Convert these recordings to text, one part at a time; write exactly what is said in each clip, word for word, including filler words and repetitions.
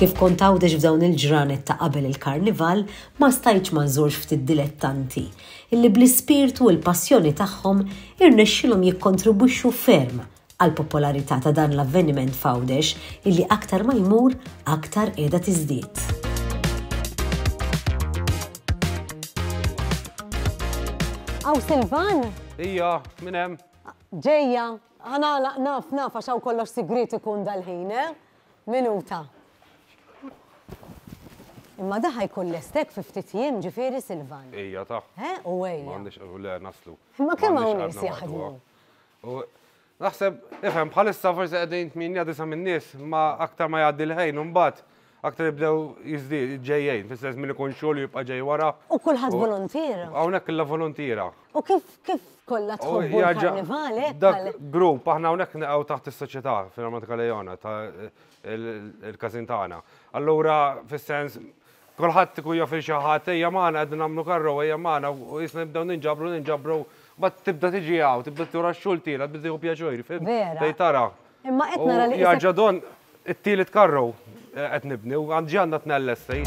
Kif kont Għawdex f'dawn il-ġranet ta' qabel il-karnival, ma stajtx ma nżurx ftit dilettanti illi bl-ispirtu u l-passjoni tagħhom irnexxilhom jikkontribwixxu ferm għal popolarità ta' dan l-avveniment f'Għawdex illi aktar ma jmur aktar qiegħda tiżdied. Aw Silvan? Ija, minn hemm. Ġejja, ħa nagħlaq naf naf għax hawn kollox sigriet ikun dal-ħin, eh? Minuta. Imma da ħa jkun lest hekk fi ftit jiem ġifieri Silvan. Ija ta' Eh, u ejja. M'għandix le naslu. Imma kemm hawn M'għandix nies għadna jaħdmu? U naħseb, ifhem, bħalissa forsi qegħdin tmienja disa' minn nies, ma aktar ma jgħaddi l-ħin, u mbagħad aktar jibdew jiżdied ġejjejn, fis-sens min ikun xogħol jibqa' ġej wara. U kulħadd volontiera. Hawnhekk illa volontiera. U kif kif kollha U tħobbu jarġa' l-karnival hekk? Dak għal- grupp, aħna hawnhekk naqgħu taħt is-soċjetà fil-Armatika Lejona ta' il-każin tagħna. Allura, fis-sens, kulħadd ikun jaf il xi ħadd, ejja magħna qegħdin nagħmlu karru, ejja magħna u jisna nibdew ninġabru, ninġabru, bat tibda tiġi hawn, tibda tura x-xogħol tiegħek, tibda tieħu pjaċir, fhimt? Vera. Tgħid tara. Imma qed U nara li jarġa' isek- don it-tielet karru eh, qed nibni u għandi għandna tnejn lesti.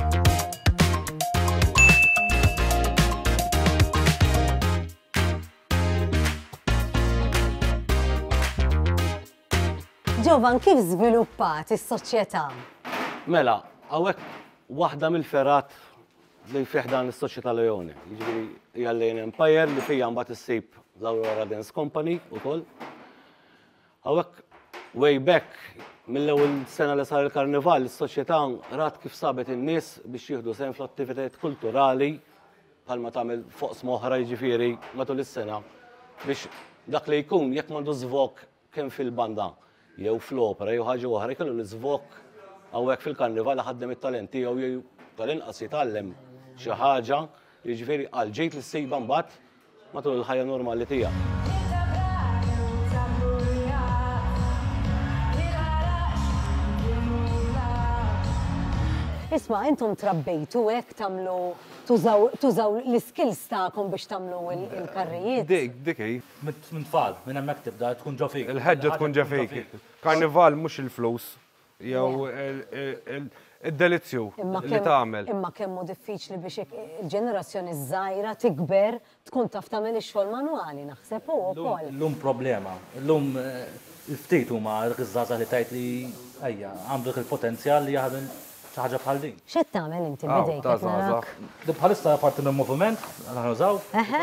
Ġovan, kif żviluppat is-soċjetà? Mela, hawnhekk waħda mill-fergħat li fih dan is-Soċjetà Leone. Jiġifieri hija Lane Empire li fija mbagħad issib l-Aurora Dance Company ukoll. Hawnhekk way back mill-ewwel sena li sar il-karnival, is-soċjetà rat kif sabet in-nies biex jieħdu sehem fl-attivitajiet kulturali bħalma tagħmel fuq oħra jiġifieri matul is-sena biex dak li jkun jekk m'għandu żvok kemm fil-banda jew fl-opera jew ħaġa oħra jkollu l-iżvok hawnhekk fil-karnival ħaddem it-talent tiegħu jew tal-inqas jitgħallem xi ħaġa jiġifieri għal ġejt li ssibha mbagħad matul il-ħajja normali tiegħek. Isma' intom trabbejtu hekk tagħmlu tużaw tużaw l-skills tagħkom biex tagħmlu il- il-karrijiet. Dik, dik hi. Minn tfal, minn hemmhekk tibda tkun ġo fik. Il-ħeġġa tkun ġo fik. Karnival mhux il-flus, jew id-delizzju Imma li kemm- tagħmel. Imma kemm hu diffiċli biex ik- il-ġenerazzjoni żgħira tikber tkun taf tagħmel ix-xogħol manwali naħseb hu wkoll. Illum problema. Illum eh, il-ftit huma dik iż-żgħażagħ li tajt li ejja għandu dik il-potenzjal li jaħdem xi ħaġa bħal din. X'qed tagħmel inti Aw, bidejk ta' qed narak? żgħażagħ. Di bħalissa parti minn moviment, aħna nużaw. Eħe.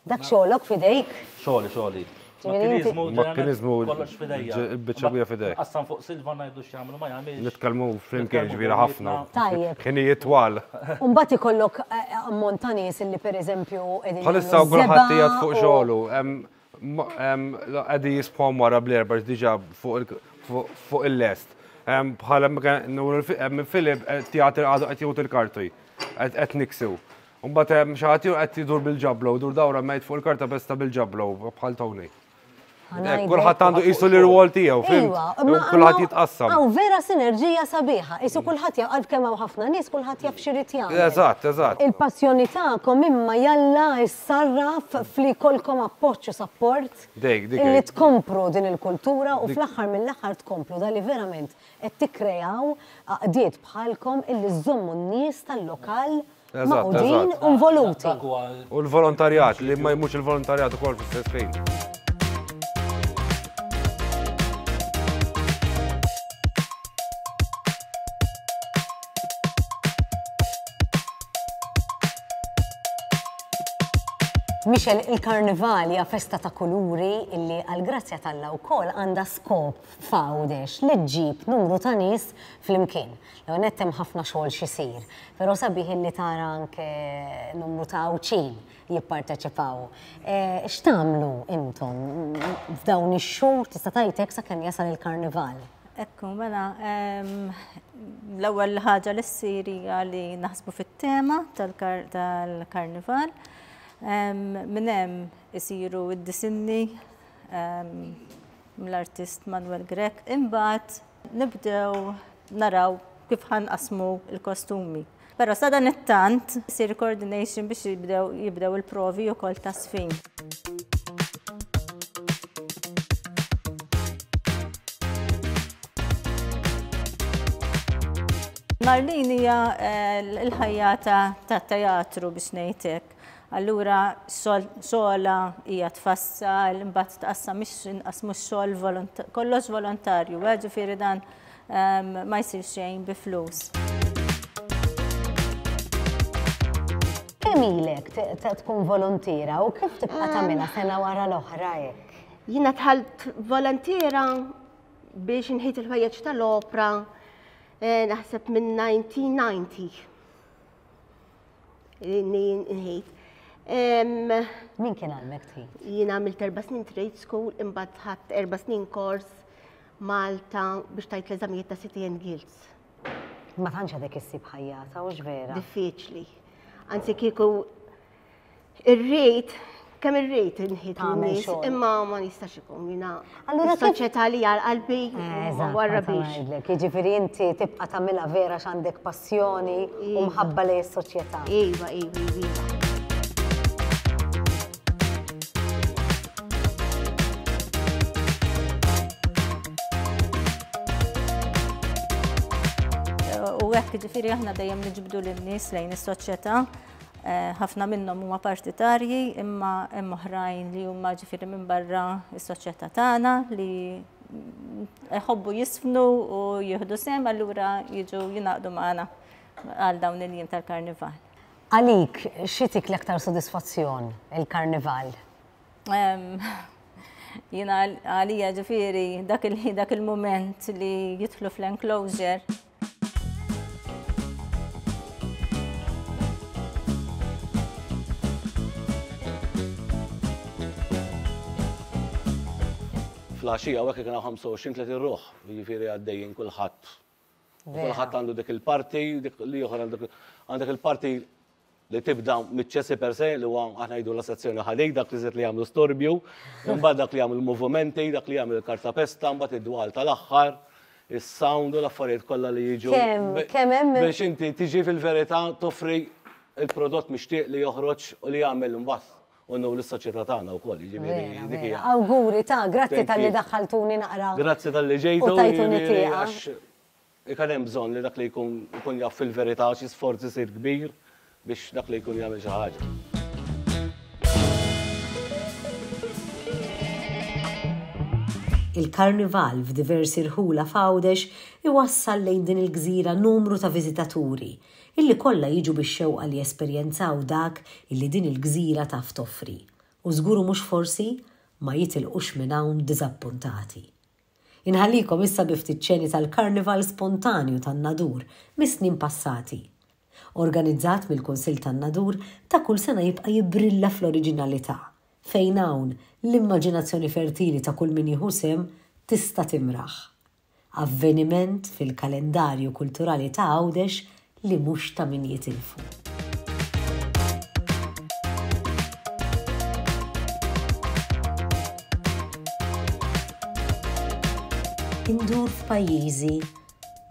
Dak xogħolok fidejk? Xogħli, xogħli. Ġifieri inti- Makkiniżmu, Makkiniżmu, kollox fidejja. il-biċċa kbira fidejk. Qassam fuq Silva ngħidu x'jagħmlu ma jagħmilx. Nitkellmu flimkien Nitkellmu ġifieri ħafna. Tajjeb. Ħinijiet twal. U mbagħad ikollok eh, ammont ta' nies illi pereżempju qegħdin Bħalissa jagħmlu kulħadd żebgħa qiegħed fuq u- xogħlu. hemm- ma- hemm, Qegħdin jisbħom wara bl-erba' diġà fuq il- fuq- fuq il-lest. Hemm Bħala minn Filip qed jagħti għadu qed jgħut il-karti. Qed qed niksiw. Mbagħad hemm xi ħadd ieħor qed jidur bil-ġablo, dur dawra mejt fuq il-karta besta bil-ġablo bħal Tony. Ħa ngħidlek. Kulħadd għandu qisu l-irwol tiegħu, fhimt? Iwa, U Kulħadd jitqassam. Hawn vera sinerġija sabiħa. Isu kulħadd jaf għal kemm hawn ħafna nies, kulħadd jaf x'irid jagħmel. Eżatt, eżatt. Il-passjoni tagħkom imma jalla issarraf fli jkollkom appoġġ u support Dik, dik illi hi. tkompru din il-kultura u fl-aħħar mill-aħħar tkomplu dali verament qed tikkrejaw għaqdiet bħalkom illi żommu n-nies tal-lokal Eżatt, magħqudin eżatt. u involuti. Dak huwa U l-volontarjat, li ma jmux il-volontarjat ukoll fl-istess ħin. Michel, il-karnival hija festa ta' kuluri illi għal-grazzja t'Alla wkoll għandha skop f'Għawdex li ġġib numru ta' nies flimkien. L nett hemm ħafna xogħol xisir, però sabiħ illi tara anke numru ta' Għawdxin jipparteċipaw. Eh, X'tagħmlu intom f'dawn ix-xhur tista' tgħid hekk sakemm jasal il-karnival? Ekku, mela, em, l-ewwel ħaġa li ssir hija li naħsbu fit-tema tal-kar- tal-karnival. Em, Minn hemm isiru d-disinni em, mill-artist Manuel Grech. Imbagħad nibdew naraw kif ħa nqassmu il-kostumi. Però sa dan it-tant isir coordination biex jibdew jibdew il-provi wkoll ta' sfin. Marlene hija l-ħajjata tat-teatru biex ngħidlek. Allura xogħla hija tfassal, imbagħad tqassam mhix inqasmu x-xogħol kollox volontarju, ġifieri dan ma jsir xejn bi flus. Kemm ilek tkun volontiera u kif tibqa' tagħmilha sena wara l-oħra hekk? Jiena dħalt volontiera biex nħit il-ħwejjeġ tal-opra naħseb minn nineteen ninety. Nħit. Min kien għalmek tħit? Jiena għamilt erba' snin trade school, imbagħad ħadt erba' snin kors Malta biex tajt l-eżamijiet ta' City and Guilds. Ma tantx għadek issib ħajjata, hux vera? Diffiċli. Anzi kieku irrid, kemm irrid inħit lin-nies, imma ma nistax ikun jiena. Allura kif- Is-soċjetà li għal qalbi Eżatt, warra ma biex. ngħidlek. Jiġifieri inti tibqa' tagħmilha vera x'għandek passjoni u mħabba lejn is-soċjetà. Iva, iva, iva. U hekk ġifieri aħna dejjem niġbdu lin-nies lejn is-soċjetà. Ħafna minnhom huma partitarji, imma hemm oħrajn li huma ġifieri minn barra s-soċjetà tagħna li jħobbu jisfnu u jieħdu sehem, allura jiġu jingħaqdu magħna għal dawn il-jiem tal-karnival. Għalik, xi tik l-aktar sodisfazzjon il-karnival? Jiena għalija ġifieri dak il-, dak il-mument li jidħlu fl-enclosure. Fl-għaxija hawnhekk kien hawn ħamsa u għoxrin tletin ruħ, jiġifieri għaddejjin kulħadd. U Vera. kulħadd għandu dik il-parti, dik li oħra għandek, għandek il-parti li tibda miċ-ċessi per se, li huwa aħna ngħidu la sezzjoni ħadej, dak li żied li jagħmlu storbju, imbagħad dak li jagħmlu movimenti, dak li jagħmlu l-kartapesta, imbagħad id-dwal tal-aħħar, is-sound u l-affarijiet kollha li jiġu. Kemm, Be- kemm hemm Biex inti tiġi fil-verità toffri il-prodott mixtieq li joħroġ u li jagħmel imbagħad. U nnu l-soċjetà tagħna wkoll, jiġifieri Vera, dik vera. hija. Awguri ta' grazzi Thank tal-li you. daħħaltuni naqra. Grazzi tal-li ġejtu, U tajtuni jiġifieri, tieqa. għax ikun hemm bżonn li dak li jkun ikun jaf fil-verità xi sforz isir kbir biex dak li jkun jagħmel xi ħaġa. Il-karnival f'diversi rħula f'Għawdex iwassal lejn din il-gżira numru ta' viżitaturi illi kollha jiġu bix-xewqa li jesperjenzaw dak illi din il-gżira taf toffri. U żguru mhux forsi ma jitilqux minn hawn diżappuntati. Inħallikom issa bi ftit ċeni tal-Karnival spontanju tan-Nadur mis-snin passati. Organizzat mill-Kunsill tan-Nadur ta' kull sena jibqa' jibrilla fl-oriġinalità, fejn hawn l-immaġinazzjoni fertili ta' kull min jieħu sehem tista' timraħ. Avveniment fil-kalendarju kulturali ta' Għawdex li mhux ta' min jitilfu. Indur f'pajjiżi,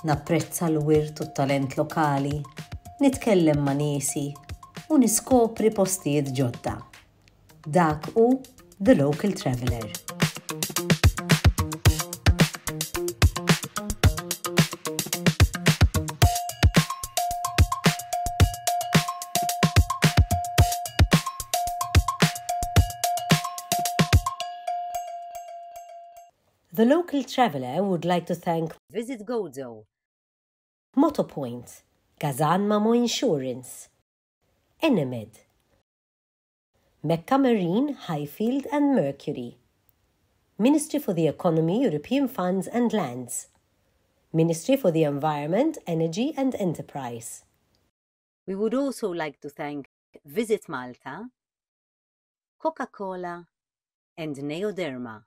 napprezza l-wirt u t-talent lokali, nitkellem ma' niesi u niskopri postijiet ġodda. Dak hu The Local Traveller. The Local Traveller would like to thank Visit Gozo, Motopoint, Gazan Mamo Insurance, Enemed, Mecca Marine, Highfield and Mercury, Ministry for the Economy, European Funds and Lands, Ministry for the Environment, Energy and Enterprise. We would also like to thank Visit Malta, Coca-Cola and Neoderma.